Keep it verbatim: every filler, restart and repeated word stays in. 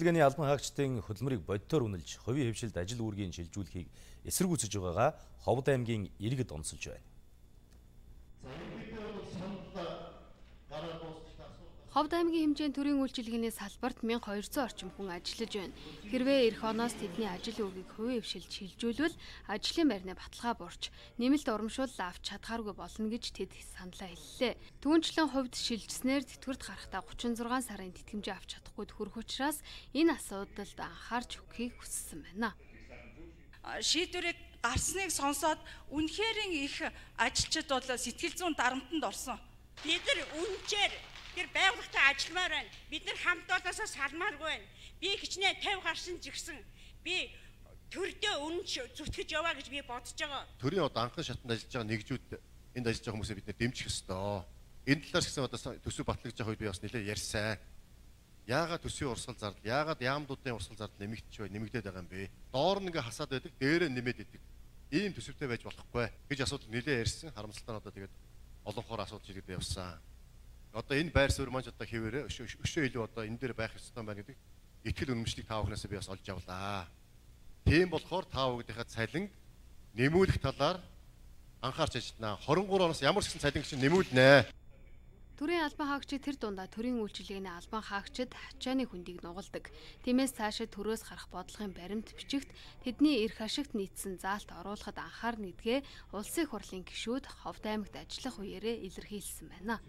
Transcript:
үйлчилгээний албан хаагчдын хөдөлмөрийг бодитоор үнэлж, хувийн хвшилд ажил үүргийн шилжүүлэхийг эсэргүүцэж байгаагаа Ховд аймгийн иргэд онцолж байна. Ховд аймгийн хэмжээний төрийн үйлчилгээний салбарт мянга хоёрцоо орчим хүн ажиллаж байна. Хэрвээ эх оноос тэдний ажил үүргийг хувийн хвшилд шилжүүлвэл ажлын байрны баталгаа бурч нэмэлт урамшуул авч чадхааргүй болно гэж тэд саналаа хэллээ. Түүнчлэн хувьд шилжснээр тэтгэврт гарахдаа гучин зургаан сарын тэтгэмжээ авч чадахгүй төрөх учраас энэ асуудалд анхаарч өгөхийг хүссэн байна. Шийдвэрийг гарсныг сонсоод үнэхээр их ажилчид бол сэтгэл зүйн дарамтанд орсон. Бид нар үнэхээр тэр байгууллагатай ажилламаар байна. Бид нар хамт олоосоо салмааргүй байна. Би хичнээн тавь гарсан жигсэн. Би төрдөө үнэн зүтгэж яваа гэж би бодож байгаа. Төрийн одоо анхан шатанд ажиллаж байгаа нэгжүүд энд ажиллаж байгаа хүмүүсээ бид нэ дэмжих ёстой. Энэ талаас гэсэн одоо төсөв батлагдж байгаа үед би бас нэлээд ярьсан. Яагаад төсвийн урсгал зардал, яагаад яамдуудын урсгал зардал нэмэгдэж бай, нэмэгдээд байгаа юм бэ? Доор нь ингээ хасаад байдаг, дээрээ нэмээд идэг. Ийм төсөвтэй байж болохгүй гэж асуудал нэлээд ярьсан. Харамсалтай нь одоо тэгээд олонхоор асуудал шийдэгдээ явсан. Одоо энэ байр суурь маань одоо хэвээрээ өшөө илүү одоо энэ дээр байх ёстой байна гэдэг итгэл үнэмшлийг та бүхнээс би бас олж авлаа. Тийм болохоор та бүхнийхээ цалин нэмүүлэх талаар анхаарч ажиллана. хорин гурав оноос ямар ч гэсэн цалин чинь нэмүүлнэ. Төрийн албан хаагчид тэр дундаа төрийн үйлчилгээний албан хаагчид ачааны хүндийг нугалдаг. Тиймээс цаашид төрөөс гарах бодлогын баримт бичигт тэдний эрх ашигт нийцсэн заалт оруулахад анхаарна гэдгээ улсын их хурлын гишүүд Ховд аймагт ажиллах үеэрээ илэрхийлсэн байна.